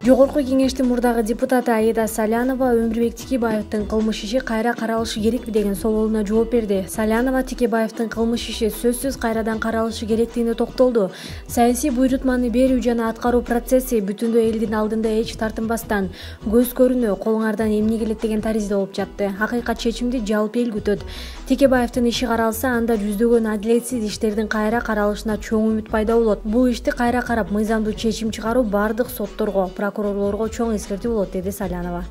Жогорку кеңештин мурдагы депутаты Аида Салянова Өмүрбек Текебаевдин кылмыш иши кайра каралышы керекпи деген соолуна жооп берди. Салянова Текебаевдин кылмыш иши сөзсүз кайрадан каралышы керектигине токтолду. Саясий буйрутманы берүү жана аткаруу процесси бүтүндөй элдин алдында эч тартынбастан, көз көрүнө, колуңардан эмне келет деген таризде болуп жатты. Акыйкат чечимди жалпы эл күтөт. Текебаевдин иши каралса, анда жүздөгөн адилетсиз иштердин кайра каралышына чоң үмүт пайда болот. Бул ишти кайра карап, мыйзамдуу чечим чыгаруу бардык сотторго, прокурорлорго чоң эскертүү болот, деди Салянова.